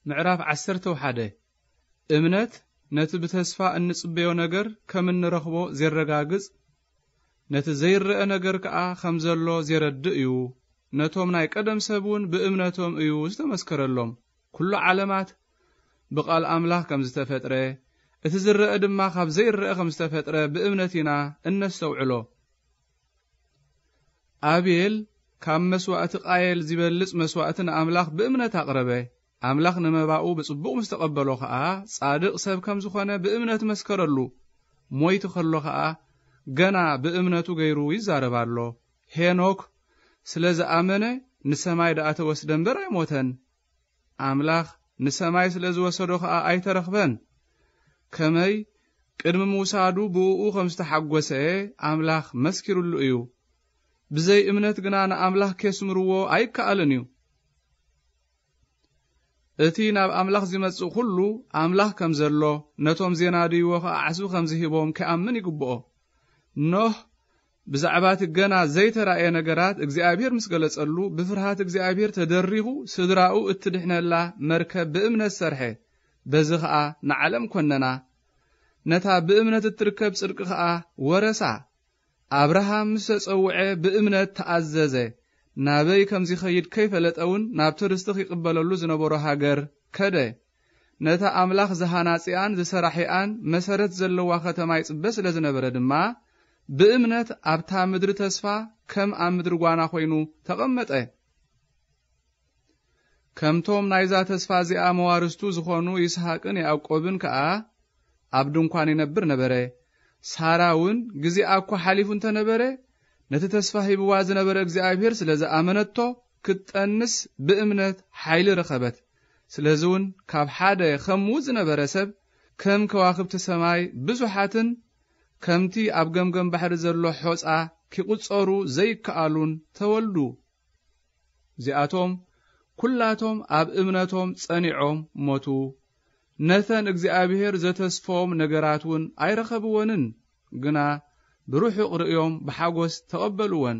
ምዕራፍ ዓሰርተ ሓደ። እምነት ነቲ ብተስፋ እንጽበዮ ነገር ከም እንረኽቦ ዜረጋግጽ፣ ነቲ ዘይረአ ነገር ከኣ ከም ዘሎ ዜረድእ እዩ። ነቶም ናይ ቀደም ሰብ እውን ብእምነቶም እዩ ዝተመስከረሎም። ኩሉ ዓለማት ብቓል ኣምላኽ ከም ዝተፈጥረ፣ እቲ ዝረአ ድማ ካብ ዘይረአ ከም ዝተፈጥረ ብእምነት ኢና እነስተውዕሎ። ኣቤል ካብ መስዋእቲ ቃየል ዝበልጽ መስዋእቲ ንኣምላኽ ብእምነት ኣቕረበ። ኣምላኽ ንመባኡ ብጽቡቕ ምስ ተቐበሎ ኸኣ፣ ጻድቕ ሰብ ከም ዝኾነ ብእምነት መስከረሉ። ሞይቱ ከሎ ኸኣ፣ ገና ብእምነቱ ገይሩ ይዛረብ ኣሎ። ሄኖክ ስለ ዝኣመነ ንሰማይ ደኣ ተወስደ እምበር ኣይሞተን። ኣምላኽ ንሰማይ ስለ ዝወሰዶ ኸኣ ኣይተረኽበን። ከመይ ቅድሚ ምውሳዱ ብእኡ ከም ዝተሓጎሰ ኣምላኽ መስኪሩሉ እዩ። ብዘይ እምነት ግና ንኣምላኽ ኬስምርዎ ኣይከኣልን እዩ። እቲ ናብ ኣምላኽ ዚመጽእ ኩሉ ኣምላኽ ከም ዘሎ፣ ነቶም ዜናድይዎ ኸኣ ዓስቢ ከም ዝሂቦም ኪኣምን ይግብኦ። ኖህ ብዛዕባ እቲ ገና ዘይተራእየ ነገራት እግዚኣብሔር ምስ ገለጸሉ፣ ብፍርሃት እግዚኣብሔር ተደሪኹ ስድራኡ እትድሕነላ መርከብ ብእምነት ሰርሐ። በዚ ኸኣ ንዓለም ኰነና። ነታ ብእምነት እትርከብ ጽድቂ ኸኣ ወረሳ። ኣብርሃም ምስ ተጸውዐ ብእምነት ተኣዘዘ። ናበይ ከም ዚኸይድ ከይፈለጠ እውን ናብቲ ርስቲ ኺቕበለሉ ዝነበሮ ሃገር ከደ። ነታ ኣምላኽ ዝሃናጺኣን ዝሰራሒኣን መሰረት ዘለዋ ኸተማ ይጽበ ስለ ዝነበረ ድማ፣ ብእምነት ኣብታ ምድሪ ተስፋ ከም ኣብ ምድሪ ጓና ኾይኑ ተቐመጠ። ከምቶም ናይዛ ተስፋ እዚኣ መዋርስቱ ዝኾኑ ይስሐቅን ያዕቆብን ከኣ ኣብ ድንኳን ይነብር ነበረ። ሳራ እውን ግዜኣ እኳ ሓሊፉ እንተ ነበረ፣ ነቲ ተስፋ ሂብዋ ዝነበረ እግዚኣብሔር ስለ ዝኣመነቶ፣ ክትጠንስ ብእምነት ሓይሊ ረኸበት። ስለዚ እውን ካብ ሓደ ኸምኡ ዝነበረ ሰብ፣ ከም ከዋኽብቲ ሰማይ ብዙሓትን ከምቲ ኣብ ገምገም ባሕሪ ዘሎ ሖጻ ኪቑጸሩ ዘይከኣሉን ተወልዱ። እዚኣቶም ኩላቶም ኣብ እምነቶም ጸኒዖም ሞቱ። ነተን እግዚኣብሔር ዘተስፎም ነገራት እውን ኣይረኸብወንን፣ ግና ብርሑቕ ርእዮም ብሓጎስ ተቐበልወን።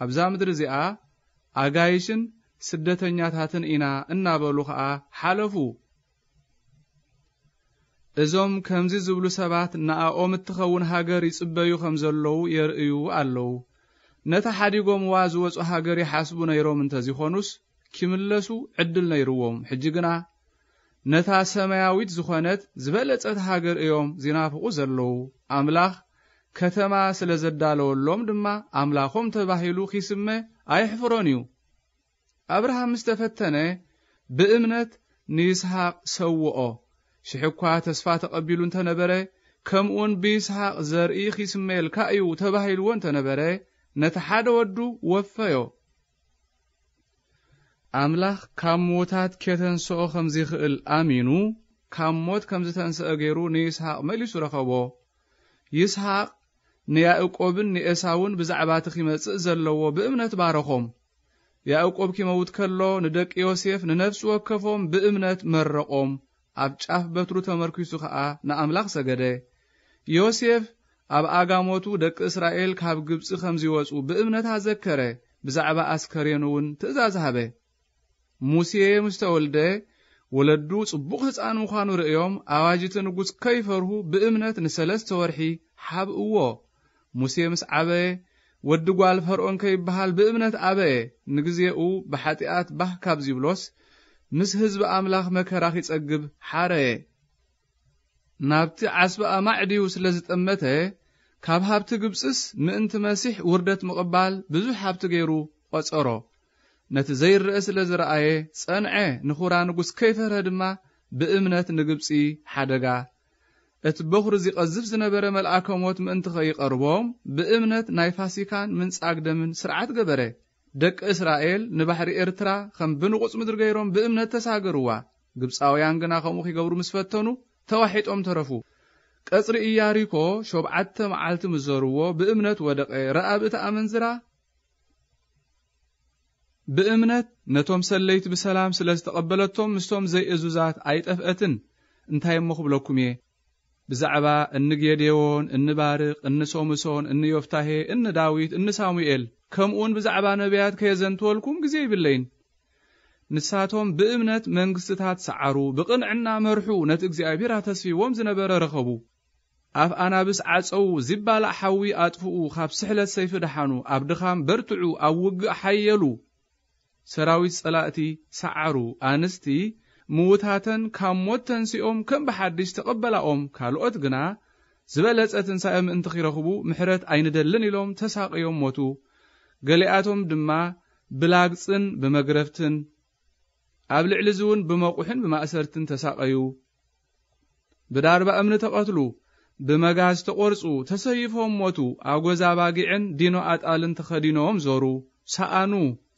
ኣብዛ ምድሪ እዚኣ ኣጋይሽን ስደተኛታትን ኢና እናበሉ ኸኣ ሓለፉ። እዞም ከምዚ ዝብሉ ሰባት ንኣኦም እትኸውን ሃገር ይጽበዩ ከም ዘለዉ የርእዩ ኣለዉ። ነታ ሓዲጎምዋ ዝወጹ ሃገር ይሓስቡ ነይሮም እንተ ዚኾኑስ፣ ኪምለሱ ዕድል ነይርዎም። ሕጂ ግና ነታ ሰማያዊት ዝኾነት ዝበለጸት ሃገር እዮም ዚናፍቑ ዘለዉ። ኣምላኽ ከተማ ስለ ዘዳለወሎም ድማ፣ ኣምላኾም ተባሂሉ ኺስመ ኣየሕፍሮን እዩ። ኣብርሃም ምስ ተፈተነ፣ ብእምነት ንይስሃቅ ሰውኦ። ሽሕ እኳ ተስፋ ተቐቢሉ እንተ ነበረ፣ ከምኡውን ብይስሃቅ ዘርኢ ኺስመየልካ እዩ ተባሂልዎ እንተ ነበረ፣ ነቲ ሓደ ወዱ ወፈዮ። ኣምላኽ ካብ ምዉታት ኬተንስኦ ከም ዚኽእል ኣሚኑ፣ ካብ ሞት ከም ዝተንስአ ገይሩ ንይስሃቅ መሊሱ ረኸቦ። ይስሃቅ ንያእቆብን ንኤሳውን ብዛዕባ እቲ ኺመጽእ ዘለዎ ብእምነት ባረኾም። ያእቆብ ኪመውት ከሎ፣ ንደቂ ዮሴፍ ንነፍሲ ወከፎም ብእምነት መረቖም፣ ኣብ ጫፍ በትሩ ተመርኪሱ ኸኣ ንኣምላኽ ሰገደ። ዮሴፍ ኣብ ኣጋሞቱ ደቂ እስራኤል ካብ ግብጺ ከም ዚወጹ ብእምነት ኣዘከረ፣ ብዛዕባ ኣስከሬኑ እውን ትእዛዝ ሃበ። ሙሴ ምስ ተወልደ፣ ወለዱ ጽቡቕ ህጻን ምዃኑ ርእዮም፣ ኣዋጅ እቲ ንጉስ ከይፈርሁ ብእምነት ንሰለስተ ወርሒ ሓብእዎ። ሙሴ ምስ ዓበየ፣ ወዲ ጓል ፈርኦን ከይበሃል ብእምነት ኣበየ። ንግዜኡ ብሓጢኣት ባህ ካብ ዚብሎስ፣ ምስ ህዝቢ ኣምላኽ መከራ ኺጸግብ ሓረየ። ናብቲ ዓስቢ ኣማዕድዩ ስለ ዝጠመተ፣ ካብ ሃብቲ ግብጽስ ምእንቲ መሲሕ ውርደት ምቕባል ብዙሕ ሃብቲ ገይሩ ቖጸሮ። ነቲ ዘይረአ ስለ ዝረኣየ ጸንዐ፣ ንኹራ ንጉስ ከይፈርሀ ድማ ብእምነት ንግብጺ ሓደጋ። እቲ በኹሪ ዚቐዝፍ ዝነበረ መልኣከ ሞት ምእንቲ ኸይቐርቦም፣ ብእምነት ናይ ፋሲካን ምንጻግ ደምን ስርዓት ገበረ። ደቂ እስራኤል ንባሕሪ ኤርትራ ኸም ብንቑጽ ምድሪ ገይሮም ብእምነት ተሳገርዋ። ግብጻውያን ግና ከምኡ ኺገብሩ ምስ ፈተኑ፣ ተዋሒጦም ተረፉ። ቀጽሪ ኢያሪኮ ሸውዓተ መዓልቲ ምስ ዞርዎ፣ ብእምነት ወደቐ። ረኣብ እታ ኣመንዝራ ብእምነት ነቶም ሰለይቲ ብሰላም ስለ ዝተቐበለቶም፣ ምስቶም ዘይእዙዛት ኣይጠፍአትን። እንታይ እሞ ክብለኩም እየ? ብዛዕባ እኒ ጌዴዎን፣ እኒ ባርቅ፣ እኒ ሶምሶን፣ እኒ ዮፍታሄ፣ እኒ ዳዊት፣ እኒ ሳሙኤል፣ ከምኡውን ብዛዕባ ነቢያት ከየዘንትወልኩም ግዜ ይብለይን። ንሳቶም ብእምነት መንግስትታት ሰዓሩ፣ ብቕንዕና መርሑ፣ ነቲ እግዚኣብሔር ኣተስፊዎም ዝነበረ ረኸቡ። ኣፍ ኣናብስ ዓጸዉ፣ ዚባላዕ ሓዊ ኣጥፍኡ፣ ካብ ስሕለት ሰይፊ ደሓኑ፣ ኣብ ድኻም በርትዑ፣ ኣብ ውግእ ሓየሉ። ሰራዊት ጸላእቲ ሰዓሩ፣ ኣንስቲ ምውታተን ካብ ሞት ተንሲኦም ከም ብሓድሽ ተቐበላኦም፣ ካልኦት ግና ዝበለጸ ትንሳኤ ምእንቲ ኺረኽቡ ምሕረት ኣይንደልን ኢሎም ተሳቕዮም ሞቱ። ገሊኣቶም ድማ ብላግጽን ብመግረፍትን፣ ኣብ ልዕሊ እዚ እውን ብመቑሕን ብማእሰርትን ተሳቐዩ። ብዳርባ እምኒ ተቐትሉ፣ ብመጋዝ ተቖርጹ፣ ተሰይፎም ሞቱ። ኣጎዛ ኣባጊዕን ዲኖ ኣጣልን ተኸዲኖም ዞሩ፣ ሰኣኑ፣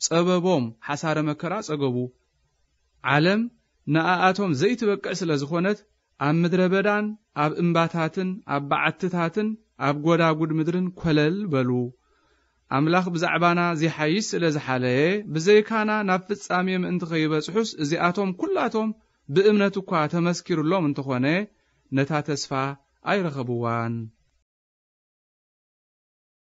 ጸበቦም፣ ሓሳረ መከራ ጸገቡ። ዓለም ንኣኣቶም ዘይትበቅዕ ስለ ዝኾነት፣ ኣብ ምድረ በዳን ኣብ እምባታትን ኣብ በዓትታትን ኣብ ጐዳጉድ ምድርን ኰለል በሉ። ኣምላኽ ብዛዕባና ዚሓይሽ ስለ ዝሓለየ፣ ብዘይካና ናብ ፍጻሜ ምእንቲ ኸይበጽሑስ፣ እዚኣቶም ኵላቶም ብእምነት እኳ ተመስኪሩሎም እንተኾነ፣ ነታ ተስፋ ኣይረኸብዋን።